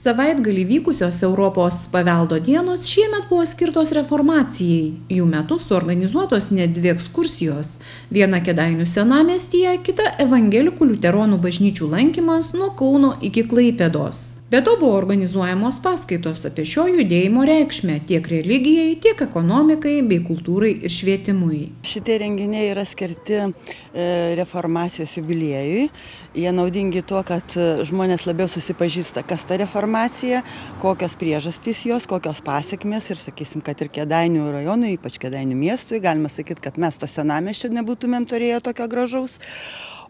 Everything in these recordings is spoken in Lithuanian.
Savaitgalį vykusios Europos paveldo dienos šiemet buvo skirtos reformacijai. Jų metu suorganizuotos net 2 ekskursijos. Viena Kėdainių senamiestyje, kita evangelikų liuteronų bažnyčių lankymas nuo Kauno iki Klaipėdos. Be to buvo organizuojamos paskaitos apie šio judėjimo reikšmę tiek religijai, tiek ekonomikai bei kultūrai ir švietimui. Šitie renginiai yra skirti reformacijos jubiliejui. Jie naudingi tuo, kad žmonės labiau susipažįsta, kas ta reformacija, kokios priežastys jos, kokios pasiekmės ir sakysim, kad ir Kėdainių rajonui, ypač Kėdainių miestui, galima sakyti, kad mes to senamiesčio nebūtumėm turėję tokio gražaus.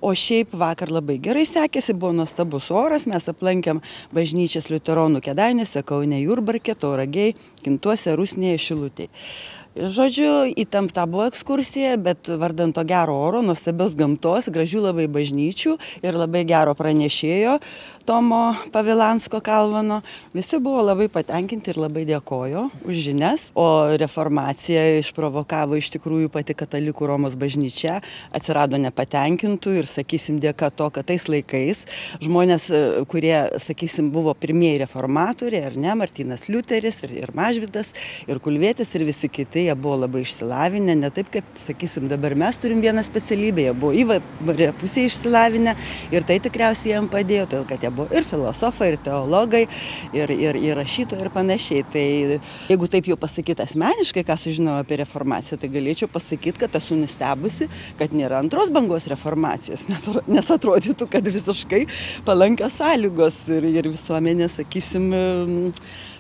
O šiaip vakar labai gerai sekėsi, buvo nuostabus oras, mes aplankėm bažnyčias liuteronų Kėdainiuose, Kaune, Jurbarke, Tauragėj, Kintuose, Rusnėje, Šilutėj. Žodžiu, įtempta buvo ekskursija, bet vardant to gero oro, nuostabios gamtos, gražių labai bažnyčių ir labai gero pranešėjo Tomo Pavilansko Kalvano. Visi buvo labai patenkinti ir labai dėkojo už žinias. O reformacija išprovokavo iš tikrųjų pati katalikų Romos bažnyčia. Atsirado nepatenkintų ir, sakysim, dėka to, kad tais laikais žmonės, kurie, sakysim, buvo pirmieji reformatoriai, ar ne, Martynas Liuteris ir Mažvydas, ir Kulvietis ir visi kiti, jie buvo labai išsilavinę, ne taip kaip, sakysim, dabar mes turim vieną specialybę, jie buvo įvairią pusę išsilavinę ir tai tikriausiai jiems padėjo, todėl kad jie buvo ir filosofai, ir teologai, ir rašytojai ir panašiai. Tai jeigu taip jau pasakyti asmeniškai, ką sužinojau apie reformaciją, tai galėčiau pasakyti, kad esu nustebusi, kad nėra antros bangos reformacijos, nes atrodytų, kad visiškai palankios sąlygos ir visuomenė, sakysim,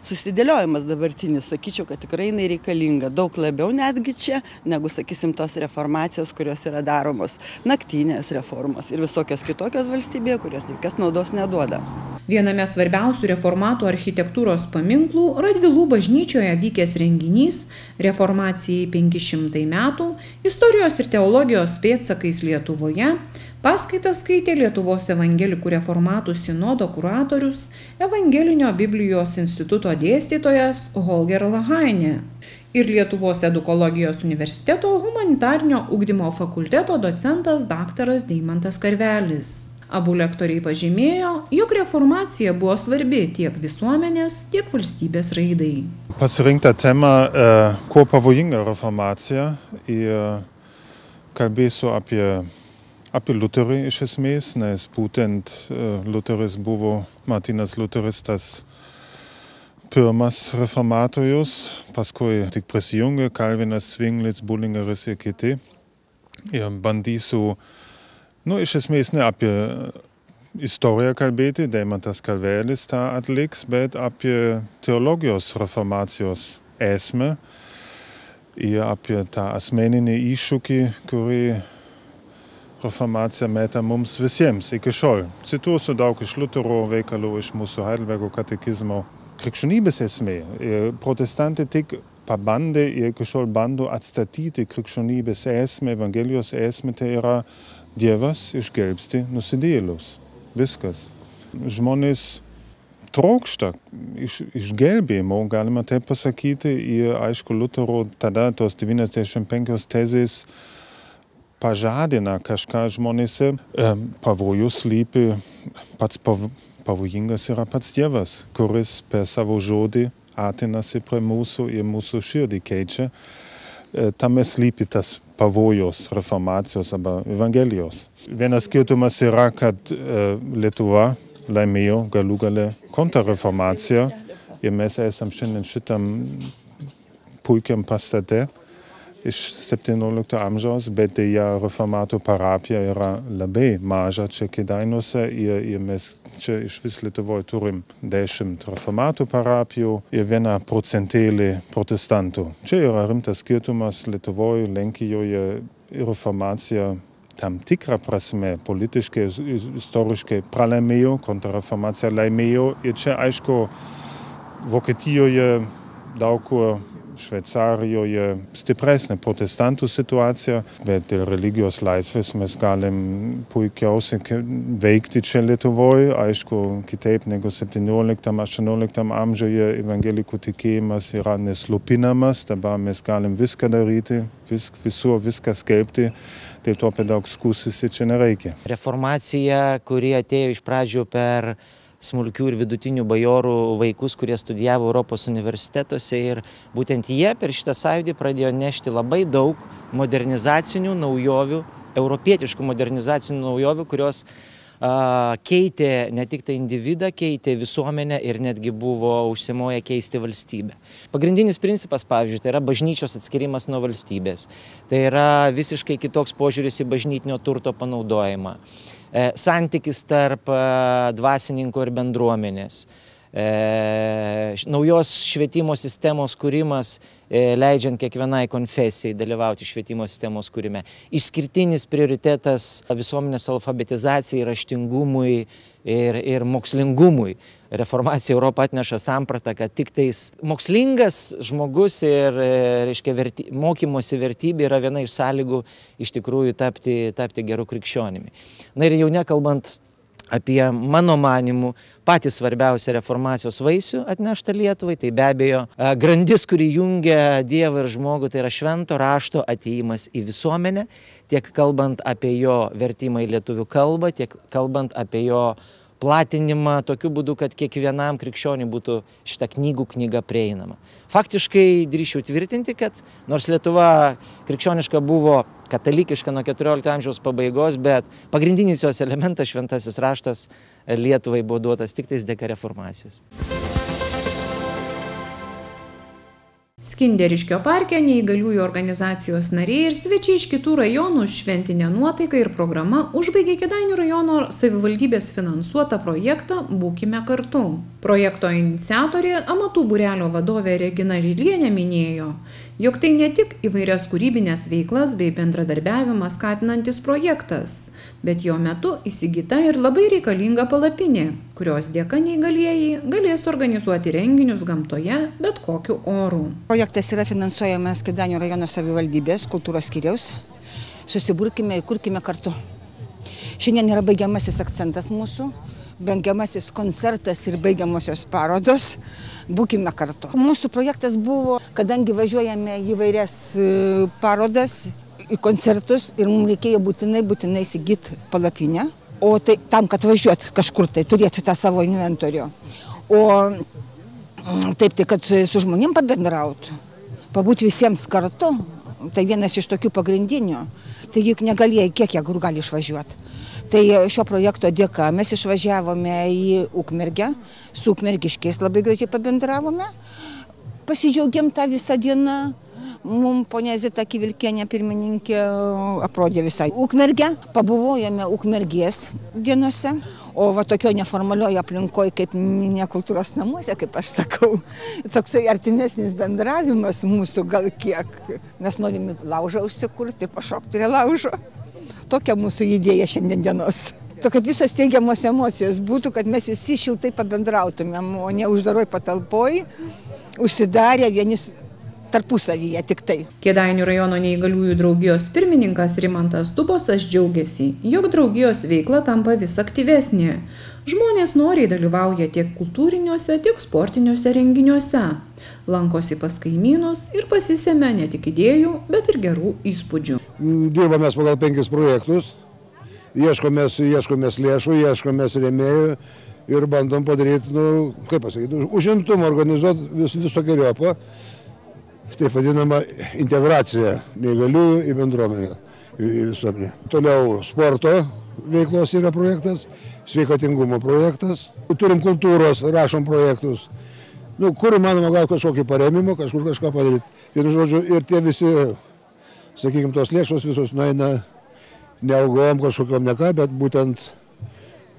susidėliojimas dabartinis, sakyčiau, kad tikrai jinai reikalinga daug labiau netgi čia, negu, sakysim, tos reformacijos, kurios yra daromos, naktinės reformos ir visokios kitokios valstybėje, kurios jokios naudos neduoda. Viename svarbiausių reformatų architektūros paminklų Radvilų bažnyčioje vykęs renginys Reformacijai 500 metų, istorijos ir teologijos pėdsakais Lietuvoje, paskaitas skaitė Lietuvos evangelikų reformatų sinodo kuratorius, Evangelinio Biblijos instituto dėstytojas Holger Lahainė ir Lietuvos edukologijos universiteto humanitarnio ugdymo fakulteto docentas daktaras Deimantas Karvelis. Abu lektoriai pažymėjo, jog reformacija buvo svarbi tiek visuomenės, tiek valstybės raidai. Pasirinkta tema kuo pavojinga reformacija ir kalbėsiu apie Luterį iš esmės, nes būtent Luteris buvo, Martynas Liuteris, tas pirmas reformatorius, paskui tik prisijungė Kalvinas, Zwinglitz, Bullingeris ir kiti. Ir bandysiu, iš esmės ne apie istoriją kalbėti, Deimantas Karvelis tą atliks, bet apie teologijos reformacijos esmę ir apie tą asmeninį iššūkį, kurį reformacija meta mums visiems iki šiol. Cituosiu daug iš Lutero veikalų, iš mūsų Heidelbergo katekizmo. Krikščionybės esmė. Protestantai tik pabandė ir iki šiol bando atstatyti krikščionybės esmę, Evangelijos esmę, tai yra Dievas išgelbsti nusidėjėlius. Viskas. Žmonės trokšta išgelbėjimo, galima taip pasakyti, ir aišku, Lutero tada tos 95 tezės pažadina kažką žmonėse. Pavojus slypi, pats pavojingas yra pats Dievas, kuris per savo žodį atinasi prie mūsų ir mūsų širdį keičia. Tame slypi tas pavojos reformacijos arba Evangelijos. Vienas skirtumas yra, kad Lietuva laimėjo galų gale kontrreformaciją ir mes esam šiandien šitam puikiam pastate iš 17 amžiaus, bet dėja reformatų parapija yra labai maža čia Kėdainiuose ir mes čia išvis Lietuvoje turim 10 reformatų parapijų ir 1% protestantų. Čia yra rimtas skirtumas Lietuvoje, Lenkijoje reformacija tam tikrą prasme politiškai, istoriškai pralaimėjo, kontrreformacija laimėjo ir čia aišku Vokietijoje daug kur Šveicarijoje stipresnė protestantų situacija, bet dėl religijos laisvės mes galim puikiausiai veikti čia Lietuvoje. Aišku, kitaip negu 17-18 amžiuje evangelikų tikėjimas yra neslopinamas, dabar mes galim viską daryti, visur viską skelbti, tai to per daug skųstis čia nereikia. Reformacija, kuri atėjo iš pradžių per smulkių ir vidutinių bajorų vaikus, kurie studijavo Europos universitetuose, ir būtent jie per šitą sąjūdį pradėjo nešti labai daug modernizacinių naujovių, europietiškų modernizacinių naujovių, kurios keitė ne tik tai individą, keitė visuomenę ir netgi buvo užsimoję keisti valstybę. Pagrindinis principas, pavyzdžiui, tai yra bažnyčios atskirimas nuo valstybės. Tai yra visiškai kitoks požiūris į bažnytinio turto panaudojimą. Santykis tarp dvasininkų ir bendruomenės. Naujos švietimo sistemos kūrimas, leidžiant kiekvienai konfesijai dalyvauti švietimo sistemos kūrime. Išskirtinis prioritetas visuomenės alfabetizacijai, raštingumui ir mokslingumui. Reformacija Europą atneša sampratą, kad tik tais mokslingas žmogus ir mokymosi vertybė yra viena iš sąlygų iš tikrųjų tapti geru krikščionimi. Na ir jau nekalbant apie, mano manimu, patį svarbiausią reformacijos vaisių atneštą Lietuvai, tai be abejo grandis, kuri jungia Dievą ir žmogų, tai yra švento rašto atėjimas į visuomenę, tiek kalbant apie jo vertimą į lietuvių kalbą, tiek kalbant apie jo platinimą tokiu būdu, kad kiekvienam krikščioniui būtų šita knyga prieinama. Faktiškai drįsčiau tvirtinti, kad nors Lietuva krikščioniška buvo katalikiška nuo 14 amžiaus pabaigos, bet pagrindinis jos elementas, šventasis raštas, Lietuvai buvo duotas tik tais dėka reformacijos. Skinderiškio parke neįgaliųjų organizacijos nariai ir svečiai iš kitų rajonų šventinė nuotaika ir programa užbaigė Kėdainių rajono savivaldybės finansuotą projektą Būkime kartu. Projekto iniciatorė, amatų būrelio vadovė Regina Rilienė minėjo, jog tai ne tik įvairias kūrybinės veiklas bei bendradarbiavimą skatinantis projektas, bet jo metu įsigyta ir labai reikalinga palapinė, kurios dėka neįgalieji galės organizuoti renginius gamtoje bet kokiu oru. Projektas yra finansuojamas Kėdainių rajono savivaldybės kultūros skyriaus. Susiburkime ir kurkime kartu. Šiandien yra baigiamasis akcentas mūsų, baigiamasis koncertas ir baigiamosios parodos. Būkime kartu. Mūsų projektas buvo, kadangi važiuojame į įvairias parodas, į koncertus ir mums reikėjo būtinai įsigyti palapinę, o tai tam, kad važiuot kažkur tai turėtų tą savo inventorių. O taip, tai kad su žmonėm pabendrautų, pabūti visiems kartu, tai vienas iš tokių pagrindinių. Tai juk negalėjai, kiek jie gali išvažiuoti. Tai šio projekto dėka mes išvažiavome į Ukmergę, su ukmergiškiais labai gražiai pabendravome, pasidžiaugėm tą visą dieną. Mums ponia Zita Kivilkienė pirmininkė aprodė visą Ukmergę, pabuvojame Ukmergės dienose, o va tokio neformalioje aplinkoje kaip ne kultūros namuose, kaip aš sakau, toksai artimesnis bendravimas mūsų gal kiek. Mes norime laužą užsikurti, pašokti prie laužo. Tokia mūsų idėja šiandien dienos. Kad visos teigiamos emocijos būtų, kad mes visi šiltai pabendrautumėm, o ne uždaroj patalpoj, užsidarę vienis tarpusavyje tik tai. Kėdainių rajono neįgaliųjų draugijos pirmininkas Rimantas Dubosas džiaugiasi, jog draugijos veikla tampa vis aktyvesnė. Žmonės noriai dalyvauja tiek kultūriniuose, tiek sportiniuose renginiuose. Lankosi pas kaimynus ir pasisemia ne tik idėjų, bet ir gerų įspūdžių. Dirbame pagal 5 projektus, ieškomės lėšų, ieškomės rėmėjų ir bandom padaryti, užimtumą organizuoti visokeriopą. Taip vadinama integracija neįgaliųjų į bendruomenę, į visuomenę. Toliau sporto veiklos yra projektas, sveikatingumo projektas. Turim kultūros, rašom projektus. Kur įmanoma gal kažkokį paremimą, kažkur kažką padaryti. Vienu žodžiu, ir tie visi, sakykime, tos lėšos visos nueina ne algom kažkokiom ne ką, bet būtent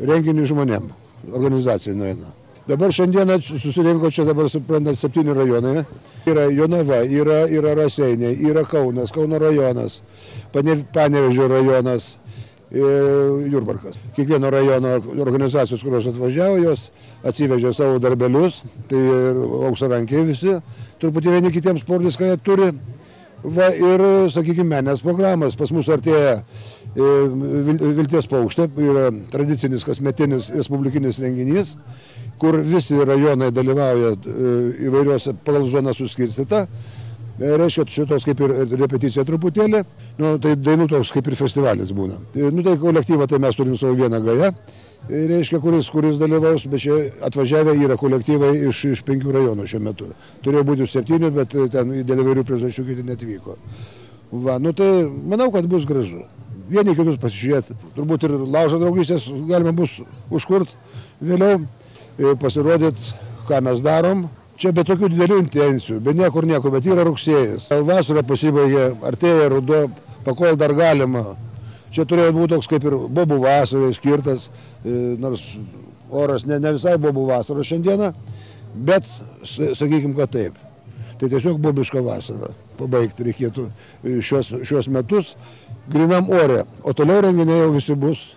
renginių žmonėm, organizacijai nueina. Dabar šiandieną susirinko čia dabar, suprantat, 7 rajonai. Yra Jonava, yra Raseiniai, yra Kaunas, Kauno rajonas, Panevėžio rajonas, Jurbarkas. Kiekvieno rajono organizacijos, kurios atvažiavo, jos atsivežė savo darbelius, tai auksarankiai visi, truputį vieni kitiems sportis, ką jie turi. Va, ir, sakykime, meninės programas. Pas mus artėja Vilties paukštė, yra tradicinis kasmetinis respublikinis renginys, kur visi rajonai dalyvauja įvairiuose pagal zoną suskirstyta. Reiškia, šitos kaip ir repeticija truputėlį, tai dainų toks kaip ir festivalis būna. Tai kolektyvą tai mes turim savo vieną gają, reiškia, kuris dalyvaus, bet čia atvažiavę yra kolektyvai iš 5 rajonų šiuo metu. Turėjo būti 7, bet ten dėl įvairių priežasčių kiti netvyko. Tai manau, kad bus gražu. Vieni kitus pasižiūrėti, turbūt ir laužo draugystės galima bus užkurt vėliau, pasirodyti, ką mes darom. Čia be tokių didelių intencijų, be niekur nieko, bet yra rugsėjas. Vasara pasibaigė, artėja ruduo, pakol dar galima. Čia turėjo būti toks kaip ir bobų vasarai skirtas, nors oras ne visai bobų vasaros šiandieną, bet sakykim, kad taip. Tai tiesiog bobiška vasara. Pabaigti reikėtų šios metus grinam ore, o toliau renginiai jau visi bus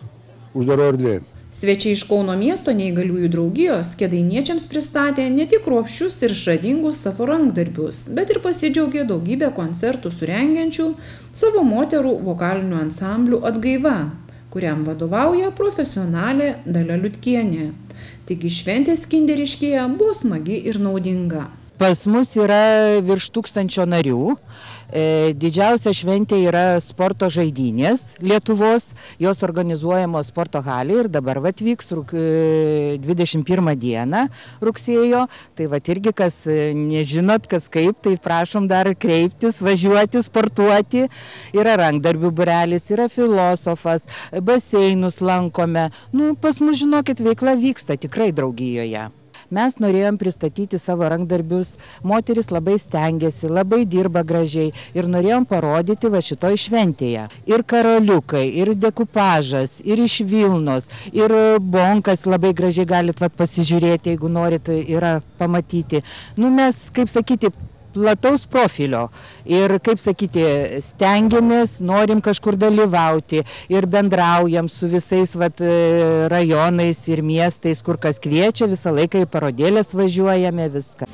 uždaro erdvėje. Svečiai iš Kauno miesto neįgaliųjų draugijos kėdainiečiams pristatė ne tik kruopščius ir išradingus savo rankdarbius, bet ir pasidžiaugė daugybę koncertų surengiančių savo moterų vokalinių ansamblių Atgaiva, kuriam vadovauja profesionalė Dalia Liutkienė. Taigi šventės Kinderiškėje buvo smagi ir naudinga. Pas mus yra virš 1000 narių. Didžiausia šventė yra sporto žaidynės Lietuvos, jos organizuojamos sporto halėje ir dabar vyks 21 dieną rugsėjo. Tai irgi, kas nežinot, kas kaip, tai prašom dar kreiptis, važiuoti, sportuoti. Yra rankdarbių būrelis, yra filosofas, baseinus lankome. Pas mus, žinokit, veikla vyksta tikrai draugijoje. Mes norėjom pristatyti savo rankdarbius, moteris labai stengiasi, labai dirba gražiai ir norėjom parodyti šitoj šventėje. Ir karoliukai, ir dekupažas, ir iš Vilnos, ir bonkas labai gražiai galit pasižiūrėti, jeigu norit, yra pamatyti. Mes, kaip sakyti, plataus profilio ir, kaip sakyti, stengiamės, norim kažkur dalyvauti ir bendraujam su visais rajonais ir miestais, kur kas kviečia, visą laiką į parodėlės važiuojame, viską.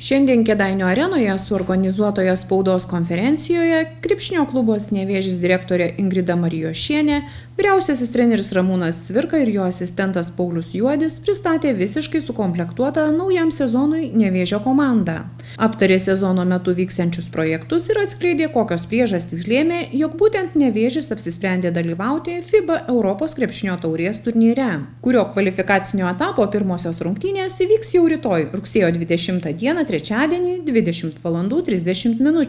Šiandien Kėdainių arenoje suorganizuotoje spaudos konferencijoje krepšinio klubos Nevėžis direktorė Ingrida Marijošienė, vyriausiasis treneris Ramūnas Cvirka ir jo asistentas Paulius Juodis pristatė visiškai sukomplektuotą naujam sezonui Nevėžio komandą. Aptarė sezono metu vyksiančius projektus ir atskleidė, kokios priežastys lėmė, jog būtent Nevėžis apsisprendė dalyvauti FIBA Europos krepšinio taurės turnyre, kurio kvalifikacinio etapo pirmosios rungtynės įvyks jau rytoj, rugsėjo 20 dieną, trečiadienį 20:30 min.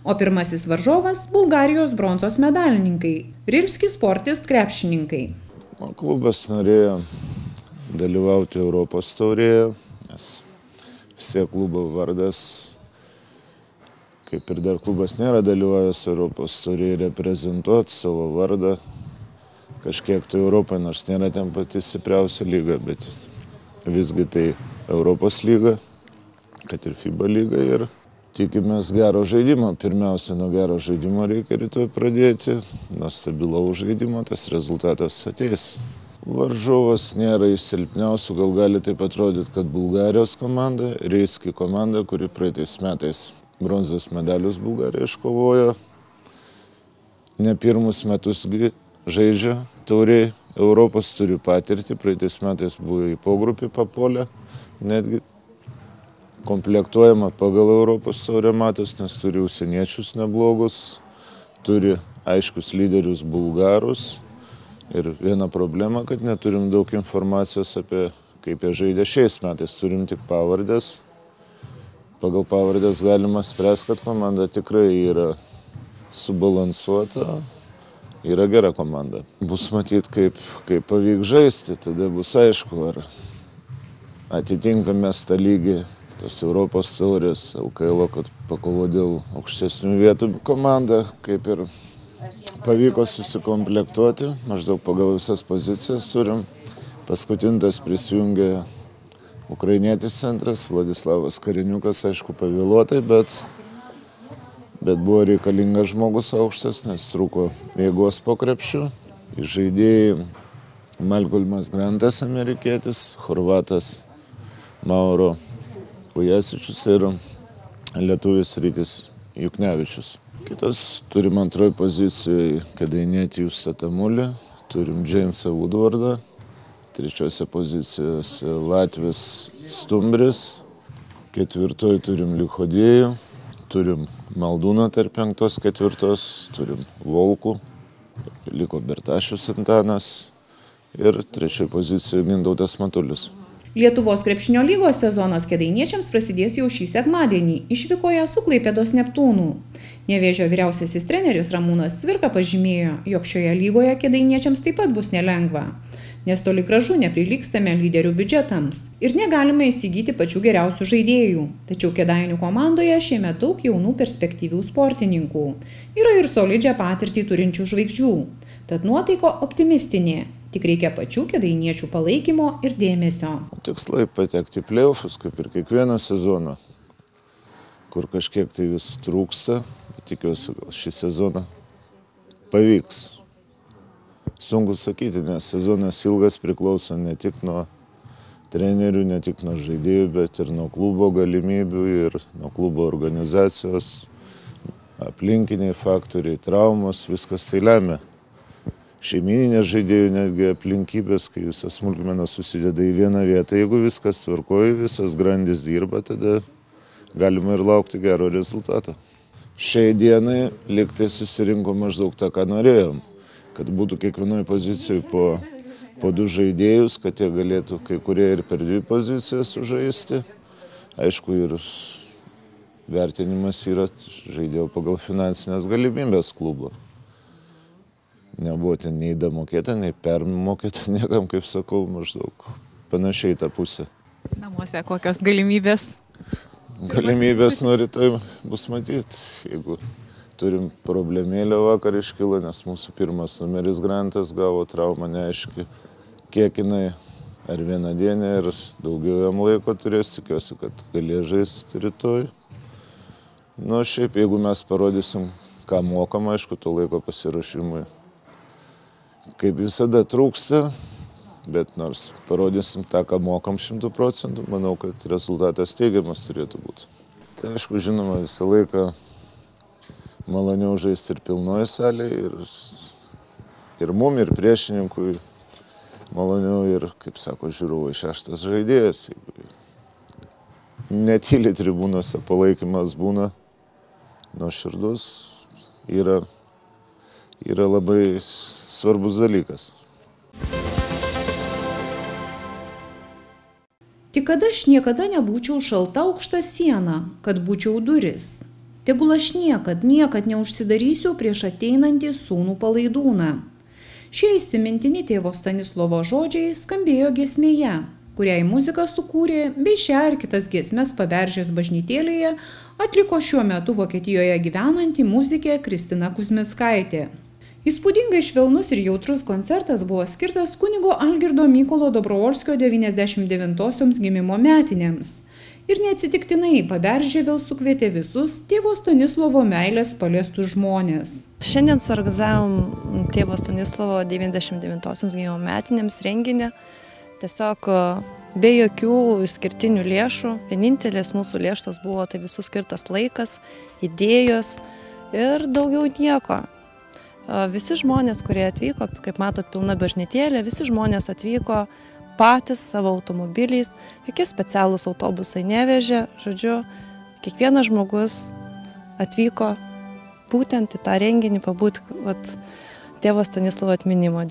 O pirmasis varžovas – Bulgarijos bronzos medalininkai – Rilski Sportist krepšininkai. Klubas norėjo dalyvauti Europos taurėje, nes visi klubo vardas, kaip ir dar klubas nėra dalyvavęs Europos taurėje, reprezentuoti savo vardą kažkiek tai Europoje, nors nėra ten pati stipriausia lyga, bet visgi tai Europos lyga, kad ir FIBA lyga, ir tikimės gero žaidimo. Pirmiausia, nuo gero žaidimo reikia rytoj pradėti, nuo stabilaus žaidimo tas rezultatas ateis. Varžovas nėra iš silpniausių, gal gali taip atrodyti, kad Bulgarijos komanda, Rilski komanda, kuri praeitais metais bronzos medalius Bulgarija iškovojo, ne pirmus metus žaidžia tauriai, Europos turi patirtį, praeitais metais buvo į pogrupį papolę, netgi komplektuojama pagal Europos taurę matas, nes turi užsieniečius neblogus, turi aiškus lyderius bulgarus ir viena problema, kad neturim daug informacijos apie kaip jie žaidė šiais metais, turim tik pavardės. Pagal pavardės galima spręsti, kad komanda tikrai yra subalansuota, yra gera komanda. Bus matyti, kaip pavyks žaisti, tada bus aišku, ar atitinkame tą lygį tos Europos taurės, LKL, kad pakovo dėl aukštesnių vietų komanda, kaip ir pavyko susikomplektuoti, maždaug pagal visas pozicijas turim. Paskutintas prisijungė ukrainietis centras, Vladislavas Kariniukas, aišku, pavėluotai, bet buvo reikalingas žmogus aukštas, nes trūko jėgos po krepšiu. Žaidėjai Malcolmas Grantas, amerikietis, chorvatas Mauro Ujasičius ir lietuvis Rytis Juknevičius. Kitas turim antroji pozicijoje Kėdainietijus Satamulį, turim Džeimsą Woodwardą, trečiose pozicijose Latvis Stumbris, Ketvirtoj turim Lichodėjų, turim Maldūną tarp 5-4, turim Volkų, liko Bertašius Antanas ir trečioj pozicijoje Gintautas Matulis. Lietuvos krepšinio lygos sezonas kėdainiečiams prasidės jau šį sekmadienį išvykoje su Klaipėdos Neptūnu. Nevėžio vyriausiasis treneris Ramūnas Cvirka pažymėjo, jog šioje lygoje kėdainiečiams taip pat bus nelengva, nes toli gražu neprilygstame lyderių biudžetams ir negalime įsigyti pačių geriausių žaidėjų. Tačiau Kėdainių komandoje šiemet daug jaunų perspektyvių sportininkų. Yra ir solidžią patirtį turinčių žvaigždžių. Tad nuotaika optimistinė. Tik reikia pačių kėdainiečių palaikymo ir dėmesio. Tikslai patekti į play-offus, kaip ir kiekvieną sezoną, kur kažkiek tai vis trūksta. Tikiuosi, gal šį sezoną pavyks. Sunku sakyti, nes sezonas ilgas priklauso ne tik nuo trenerių, ne tik nuo žaidėjų, bet ir nuo klubo galimybių ir nuo klubo organizacijos, aplinkiniai faktoriai, traumos, viskas tai lemia. Šeimyninės žaidėjų netgi aplinkybės, kai visas smulkmenas susideda į vieną vietą. Jeigu viskas tvarkoja, visas grandis dirba, tada galima ir laukti gero rezultato. Šiai dienai liktai susirinko maždaug tą, ką norėjom. Kad būtų kiekvienoje pozicijoje po 2 žaidėjus, kad jie galėtų kai kurie ir per 2 pozicijas sužaisti. Aišku, ir vertinimas yra žaidėjo pagal finansinės galimybės klubo. Nebuvo ten nei damokėta, nei permokėta, niekam, kaip sakau, maždaug panašiai tą pusę. Namuose kokios galimybės? Galimybės nuo rytoj bus matyti, jeigu turim problemėlę vakar iškilo, nes mūsų pirmas numeris Grantas gavo traumą neaiški, kiek jinai, ar vieną dieną, ir daugiau jam laiko turės, tikiuosi, kad galės žaisti rytoj. Nu, šiaip, jeigu mes parodysim, ką mokam, aišku, to laiko pasiruošimui. Kaip visada trūksta, bet nors parodysim tą, ką mokam 100%, manau, kad rezultatas teigiamas turėtų būti. Tai aišku, žinoma, visą laiką maloniau žaisti ir pilnoje salėje, ir mum, ir priešininkui maloniau, ir, kaip sako žiūrovai, 6. žaidėjas. Netyli tribūnose palaikymas būna nuoširdus, yra labai svarbus dalykas. Tik kad aš niekada nebūčiau šalta aukšta siena, kad būčiau duris. Tegul aš niekad neužsidarysiu prieš ateinantį sūnų Palaidūną. Šie įsimintini tėvo Stanislovo žodžiai skambėjo giesmėje, kuriai muziką sukūrė, bei šią ir kitas giesmes Paberžės bažnytėlėje atliko šiuo metu Vokietijoje gyvenanti muzikė Kristina Kuzmickaitė. Įspūdingai švelnus ir jautrus koncertas buvo skirtas kunigo Algirdo Mykolo Dobrovolskio 99-osioms gimimo metinėms. Ir neatsitiktinai Paberžė vėl sukvietė visus tėvo Stanislovo meilės paliestus žmonės. Šiandien suorganizavom tėvo Stanislovo 99-osioms gimimo metinėms renginį. Tiesiog be jokių išskirtinių lėšų. Vienintelės mūsų lėšos buvo tai visų skirtas laikas, idėjos ir daugiau nieko. Visi žmonės, kurie atvyko, kaip matot, pilna bažnytėlė, visi žmonės atvyko patys savo automobiliais, jokie specialūs autobusai nevežė, žodžiu, kiekvienas žmogus atvyko būtent į tą renginį pabūti tėvo Stanislovo atminimo,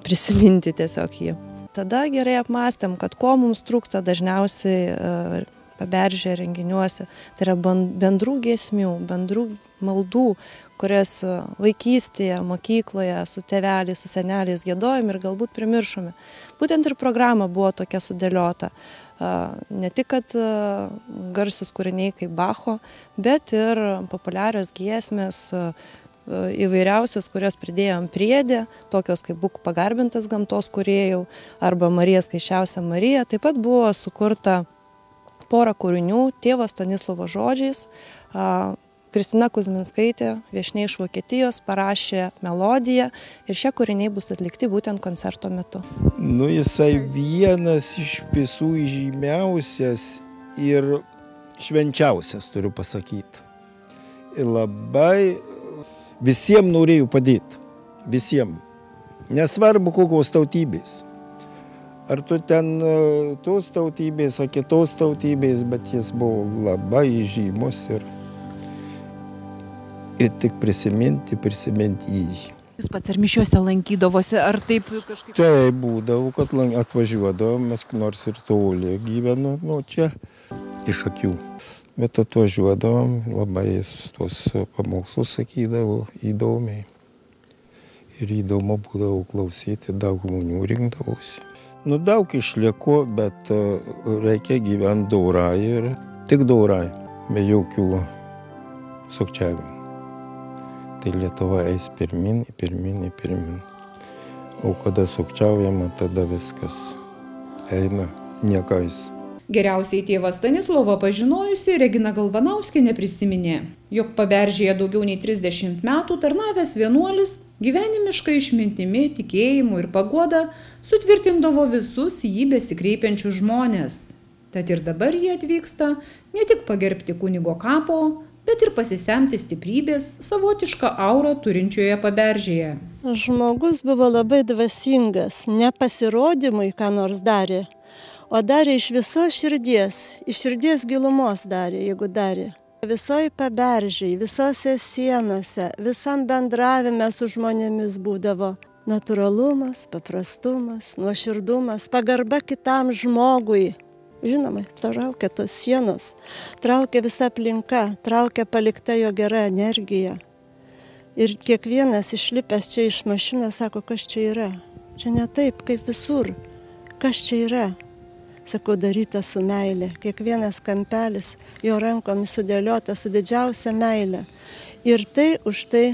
prisiminti tiesiog jį. Tada gerai apmąstėm, kad ko mums trūksta dažniausiai Paberžėje renginiuose, tai yra bendrų giesmių, bendrų maldų, kurias vaikystėje, mokykloje, su tėveliais, su seneliais giedojom ir galbūt primiršome. Būtent ir programa buvo tokia sudėliota. Ne tik, kad garsus kūriniai kaip Bacho, bet ir populiarios giesmės, įvairiausias, kurios pridėjom priedė, tokios kaip Būk pagarbintas gamtos kūrėjų arba Marija skaisčiausia Marija. Taip pat buvo sukurta porą kūrinių tėvo Stanislovo žodžiais. Kristina Kuzmickaitė, viešnia iš Vokietijos, parašė melodiją ir šie kūriniai bus atlikti būtent koncerto metu. Jisai vienas iš visų žymiausias ir švenčiausias, turiu pasakyti. Ir labai visiems norėjau padėti. Visiems. Nesvarbu kokios tautybės. ar tu ten tos tautybės, ar kitos tautybės, bet jis buvo labai žymus ir tik prisiminti jį. Jūs pats ar mišiuose lankydavosi, ar taip kažkaip? Tai būdavo, kad atvažiuodavom, mes nors ir toli gyvenu, čia iš Akių. Bet atvažiuodavom, labai tuos pamokslus sakydavo įdomiai. Ir įdomu būdavo klausyti, daug žmonių rinkdavosi. Daug išliko, bet reikia gyventi dorai ir tik dorai, be jokių sukčiavimų. Tai Lietuva eis pirmin. O kada sukčiaujama, tada viskas eina niekais. Geriausiai tėvą Stanislovą pažinojusi Regina Galvanauskienė prisiminė, jog Paberžėje daugiau nei 30 metų tarnavęs vienuolis gyvenimiška išmintimi, tikėjimu ir paguoda sutvirtindavo visus jį besikreipiančius žmones. Tad ir dabar jie atvyksta ne tik pagerbti kunigo kapo, bet ir pasisemti stiprybės savotišką aurą turinčioje Paberžėje. Žmogus buvo labai dvasingas, ne pasirodymui ką nors darė, o darė iš visos širdies, iš širdies gilumos darė, jeigu darė. Visoje Paberžėje, visose sienose, visam bendravime su žmonėmis būdavo natūralumas, paprastumas, nuoširdumas, pagarba kitam žmogui. Žinoma, traukia tos sienos, traukia visa aplinka, traukia palikta jo gera energija. Ir kiekvienas išlipęs čia iš mašinos sako, kas čia yra. Čia ne taip, kaip visur. Kas čia yra? Sakau, daryta su meilė. Kiekvienas kampelis jo rankomis sudėliota su didžiausia meilė. Ir tai už tai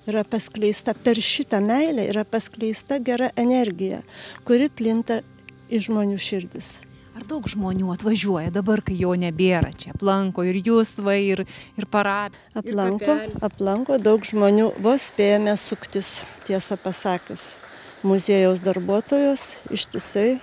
yra paskleista, per šitą meilę yra paskleista gera energija, kuri plinta į žmonių širdis. Ar daug žmonių atvažiuoja dabar, kai jo nebėra čia? Aplanko ir jūs, ir parapiją? Aplanko daug žmonių, vos spėjame suktis, tiesą pasakius. Muziejaus darbuotojos ištisai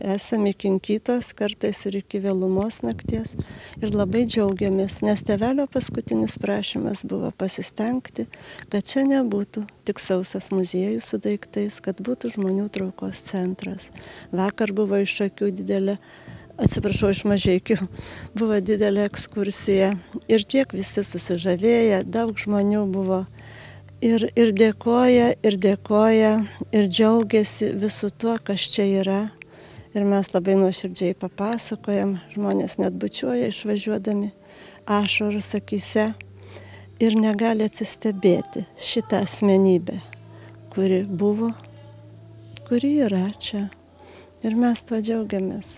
esame kinkytos, kartais ir iki vėlumos nakties. Ir labai džiaugiamės, nes tėvelio paskutinis prašymas buvo pasistengti, kad čia nebūtų tik sausas muziejus su daiktais, kad būtų žmonių traukos centras. Vakar buvo iš Akių didelė, iš Mažeikių, buvo didelė ekskursija. Ir tiek visi susižavėję, daug žmonių buvo. Ir dėkoja, ir džiaugiasi visų tuo, kas čia yra. Ir mes labai nuoširdžiai papasakojam, žmonės net bučiuoja išvažiuodami, ašaros akyse ir negali atsistebėti šitą asmenybę, kuri buvo, kuri yra čia. Ir mes tuo džiaugiamės.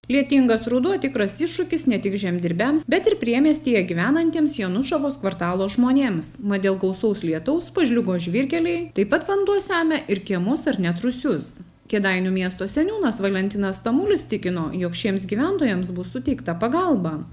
Lietingas ruduo tikras iššūkis ne tik žemdirbiams, bet ir priemiestyje gyvenantiems Janušavos kvartalo žmonėms. Mat dėl gausaus lietaus pažliugo žvyrkeliai, taip pat vanduo semia ir kiemus ar net rūsius. Kėdainių miesto seniūnas Valentinas Tamulis tikino, jog šiems gyventojams bus suteikta pagalba.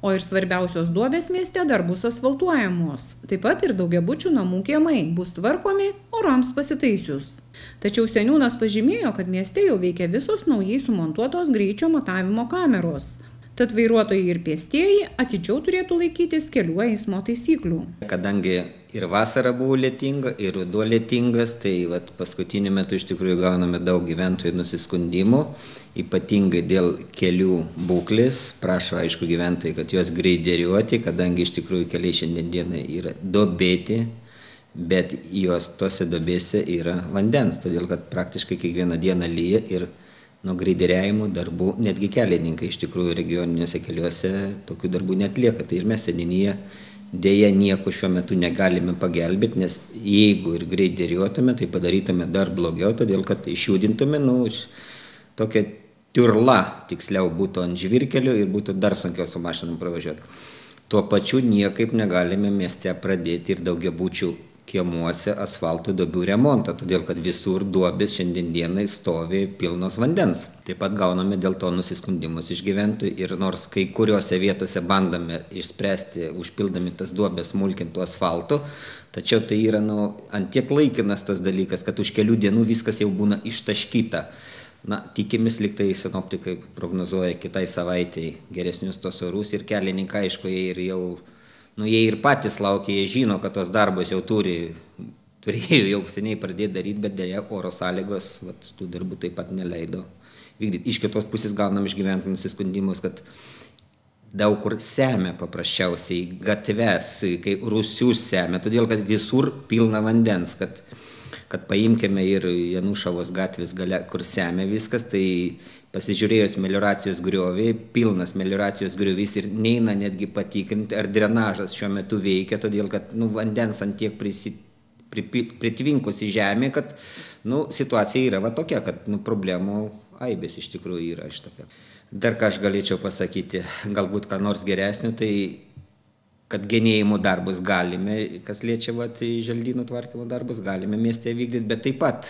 O ir svarbiausios duobės mieste dar bus asfaltuojamos. Taip pat ir daugiabučių namų kiemai bus tvarkomi orams pasitaisius. Tačiau seniūnas pažymėjo, kad mieste jau veikia visos naujai sumontuotos greičio matavimo kameros. Tad vairuotojai ir pėstieji atidžiau turėtų laikytis kelių eismo taisyklių. Kadangi ir vasara buvo lietinga, ir ruduo lietingas, tai paskutiniu metu iš tikrųjų gauname daug gyventojų nusiskundimų, ypatingai dėl kelių būklės. Prašo, aišku, gyventojai, kad juos greideriuoti, kadangi iš tikrųjų keliai šiandienai yra duobėti, bet tose duobėse yra vandens, todėl kad praktiškai kiekvieną dieną lyja ir nuo greideriavimo darbų netgi kelininkai iš tikrųjų regioniniuose keliuose tokių darbų netlieka. Tai ir mes seniūnija dėja nieko šiuo metu negalime pagelbėti, nes jeigu ir greideriuotume, tai padarytume dar blogiau, todėl kad išjudintume tokia tiurla, tiksliau būtų ant žvyrkelių ir būtų dar sunkiau su mašinom pravažiuoti. Tuo pačiu niekaip negalime mieste pradėti ir daugiabučių kiemuose asfalto duobių remontą, todėl kad visur duobės šiandienai stovi pilnos vandens. Taip pat gauname dėl to nusiskundimus iš gyventojų ir nors kai kuriuose vietose bandome išspręsti, užpildami tas duobės smulkintų asfaltu, tačiau tai yra ant tiek laikinas tas dalykas, kad už kelių dienų viskas jau būna ištaškyta. Tikimės, lyg tai sinoptikai prognozuoja kitai savaitai geresnius tos orus ir kelininkai, aišku, jie ir patys laukia, jie žino, kad tos darbos jau turi turėjo jau seniai pradėti daryti, bet dėja oro sąlygos tų darbų taip pat neleido vykdyti. Iš kitos pusės gaunam iš gyventojų nusiskundimus, kad daug kur semia paprasčiausiai gatves, kai rūsius semia, todėl kad visur pilna vandens, kad paimkime ir Janušavos gatvės gale, kur semia viskas, tai pasižiūrėjus melioracijos griovį, pilnas melioracijos griovys ir neina netgi patikrinti, ar drenažas šiuo metu veikia, todėl kad vandens ant tiek pritvinkusi žemė, kad situacija yra tokia, kad problemų aibės iš tikrųjų yra šitokia. Dar ką aš galėčiau pasakyti, galbūt ką nors geresnio, tai kad genėjimo darbus galime, kas liečia želdynų tvarkymo darbus, galime mieste vykdyti, bet taip pat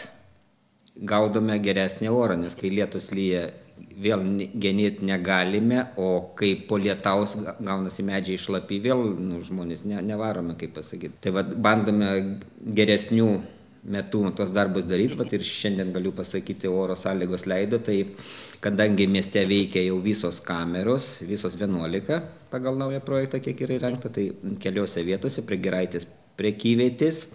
gaudome geresnį orą, nes kai lietus lyja, vėl genėti negalime, o kai po lietaus gaunasi medžiai šlapi, vėl žmonės nevarome, kaip pasakyti. Tai bandome geresnių metų tos darbus daryti, ir šiandien galiu pasakyti, oro sąlygos leido, tai kadangi mieste veikia jau visos kameros, visos 11 pagal naują projektą, kiek yra įrengta, tai keliose vietose prie Giraitės prekyvietės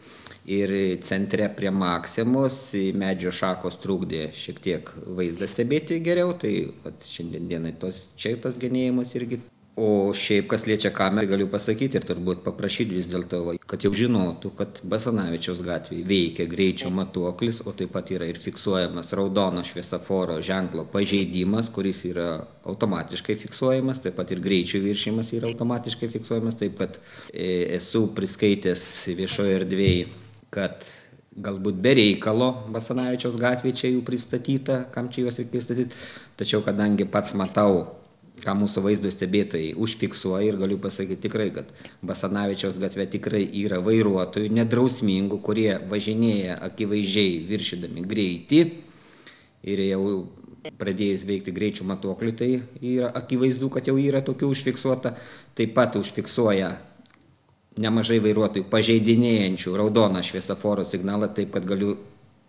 ir centre prie Maksimos medžio šakos trukdė šiek tiek vaizdą stebėti geriau, tai šiandien dienai tas genėjimas irgi. O šiaip, kas liečia kamerą, galiu pasakyti ir turbūt paprašyti vis dėlto, kad jau žinotų, kad Basanavičiaus gatvėje veikia greičio matuoklis, o taip pat yra ir fiksuojamas raudono šviesoforo ženklo pažeidimas, kuris yra automatiškai fiksuojamas, taip pat ir greičio viršimas yra automatiškai fiksuojamas, taip kad esu priskaitęs viešoje erdvėje, kad galbūt be reikalo Basanavičiaus gatvėje čia jų pristatyta, kam čia juos reikia pristatyti, tačiau kadangi pats matau, ką mūsų vaizdo stebėtojai užfiksuoja ir galiu pasakyti tikrai, kad Basanavičiaus gatvė tikrai yra vairuotojų nedrausmingų, kurie važinėja akivaizdžiai viršydami greitį ir jau pradėjus veikti greičių matuoklių, tai yra akivaizdu, kad jau yra tokių užfiksuota, taip pat užfiksuoja nemažai vairuotojų pažeidinėjančių raudoną šviesoforo signalą, taip kad galiu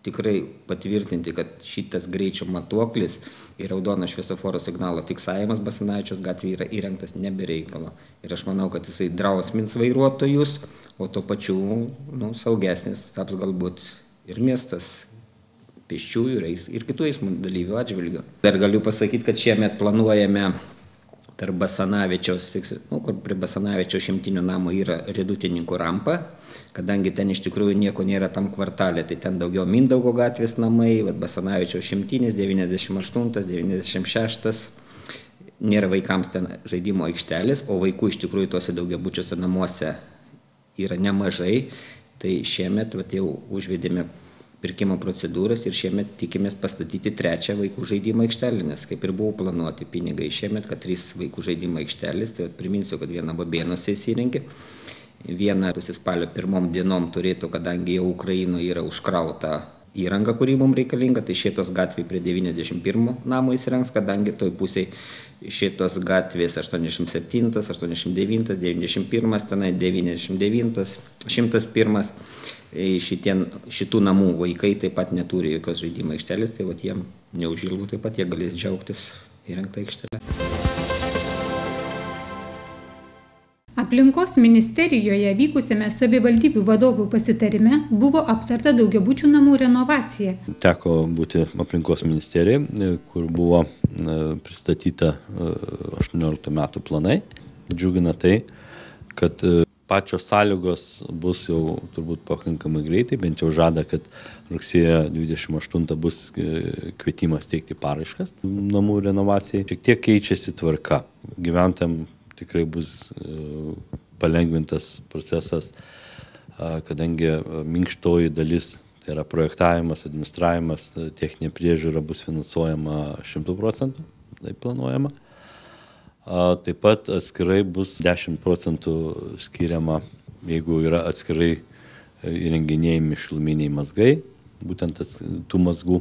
tikrai patvirtinti, kad šitas greičio matuoklis ir raudono šviesoforo signalo fiksavimas Basanavičiaus gatvėje yra įrengtas nebe reikalo. Ir aš manau, kad jisai drausmins vairuotojus, o tuo pačiu saugesnis taps galbūt ir miestas pėsčiųjų ir kitų eismo dalyvių atžvilgių. Dar galiu pasakyti, kad šiemet planuojame tarp Basanavičiaus, kur prie Basanavičiaus šimtinio namo yra Riedutininkų rampa, kadangi ten iš tikrųjų nieko nėra tam kvartalė, tai ten daugiau Mindaugo gatvės namai, Basanavičiaus šimtinis, 98, 96, nėra vaikams ten žaidimo aikštelės, o vaikų iš tikrųjų tuose daugiabučiuose namuose yra nemažai, tai šiemet jau užvedėme pirkimo procedūras ir šiemet tikimės pastatyti 3 vaikų žaidimo aikštelę, nes kaip ir buvo planuoti pinigai šiemet, kad 3 vaikų žaidimo aikštelės, tai priminsiu, kad viena Babėnuose įsirengė, viena spalio 1 dienom turėtų, kadangi jau Ukrainoje yra užkrauta įranga, kuri mums reikalinga, tai šitos gatvė prie 91 namo įsirengs, kadangi toj pusėje šitos gatvės 87, 89, 91, tenai 99, 101, šitų namų vaikai taip pat neturi jokios žaidimo aikštelės, tai jiem neužilgų taip pat jie galės džiaugtis įrengtą aikštelę. Aplinkos ministerijoje vykusiame savivaldybių vadovų pasitarime buvo aptarta daugiabučių namų renovacija. Teko būti aplinkos ministerijoje, kur buvo pristatyta 18 metų planai. Džiugina tai, kad pačios sąlygos bus jau turbūt pakankamai greitai, bent jau žada, kad rugsėjo 28 bus kvietimas teikti paraiškas namų renovacijai. Šiek tiek keičiasi tvarka. Gyventojams tikrai bus palengvintas procesas, kadangi minkštoji dalis, tai yra projektavimas, administravimas, techninė priežiūra bus finansuojama 100%, tai planuojama. Taip pat atskirai bus 10% skiriama, jeigu yra atskirai įrenginėjami šiluminiai mazgai, būtent tų mazgų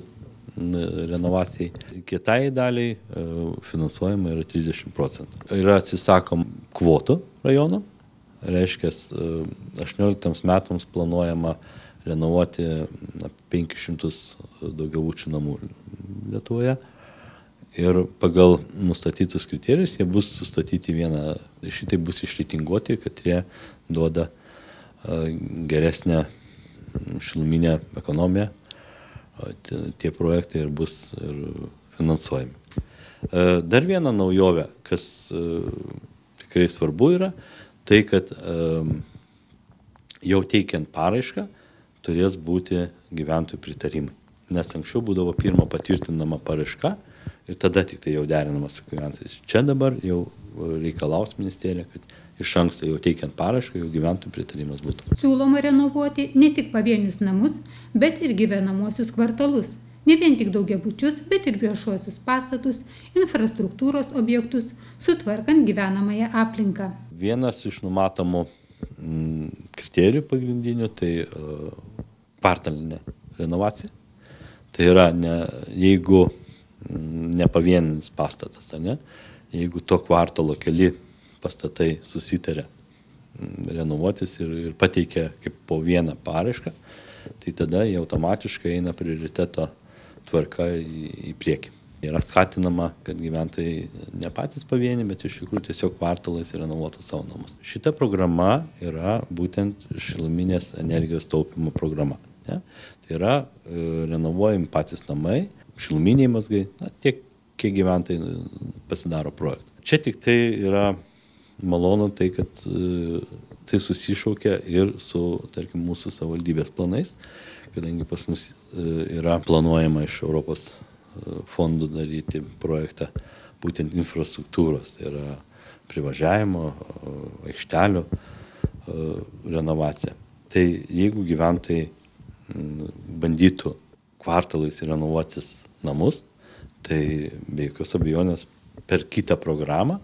renovacijai. Kitai daliai finansuojama yra 30%. Yra atsisakom kvotų rajono, reiškia 18 metams planuojama renovuoti 500 daugiabučių namų Lietuvoje. Ir pagal nustatytus kriterijus jie bus sustatyti šitai bus išreitinguoti, kad jie duoda geresnę šiluminę ekonomiją, tie projektai ir bus ir finansuojami. Dar viena naujovė, kas tikrai svarbu yra, tai kad jau teikiant paraišką turės būti gyventojų pritarimai. Nes anksčiau būdavo pirma patvirtinama paraiška ir tada tik tai jau derinama su gyventojais. Čia dabar jau reikalaus ministerija, kad iš anksto jau teikiant paraišką, jau gyventojų pritarimas būtų. Siūloma renovuoti ne tik pavienius namus, bet ir gyvenamuosius kvartalus. Ne vien tik daugiabučius, bet ir viešuosius pastatus, infrastruktūros objektus, sutvarkant gyvenamąją aplinką. Vienas iš numatomų kriterijų pagrindinių tai kvartalinė renovacija. Tai yra, jeigu ne pavieninis pastatas, ne? Jeigu to kvartalo keli pastatai susitarė renovuotis ir pateikia kaip po vieną paraišką, tai tada jie automatiškai eina prioriteto tvarka į priekį. Yra skatinama, kad gyventojai ne patys pavieni, bet iš tikrųjų tiesiog kvartalais renovuotų savo namus. Šita programa yra būtent šiluminės energijos taupimo programa. Ne? Tai yra renovuojami patys namai, šiluminiai mazgai, tiek kiek gyventojai pasidaro projektą. Čia tik tai yra malonu tai, kad tai susišaukia ir su, tarkim, mūsų savivaldybės planais, kadangi pas mus yra planuojama iš Europos fondų daryti projektą būtent infrastruktūros, tai yra privažiavimo, aikštelių renovacija. Tai jeigu gyventojai bandytų kvartalais renovuotis namus, tai be jokios abejonės per kitą programą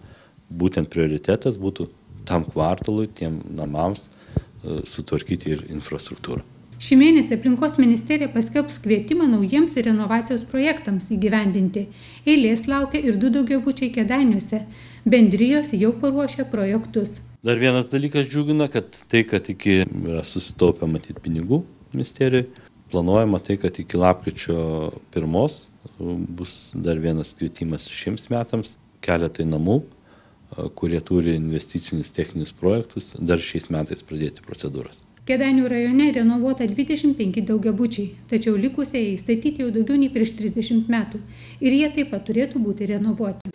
būtent prioritetas būtų tam kvartalui, tiem namams sutvarkyti ir infrastruktūrą. Šį mėnesį aplinkos ministerija paskelbs kvietimą naujiems renovacijos projektams įgyvendinti. Eilės laukia ir 2 daugiabučiai Kėdainiuose. Bendrijos jau paruošė projektus. Dar vienas dalykas džiugina, kad yra susitaupę matyti pinigų ministerijoje. Planuojama tai, kad iki lapkričio 1 bus dar vienas kvietimas šiems metams. Keletai namų, kurie turi investicinius techninius projektus, dar šiais metais pradėti procedūras. Kėdainių rajone renovuota 25 daugiabučiai, tačiau likusieji statyti jau daugiau nei prieš 30 metų ir jie taip pat turėtų būti renovuoti.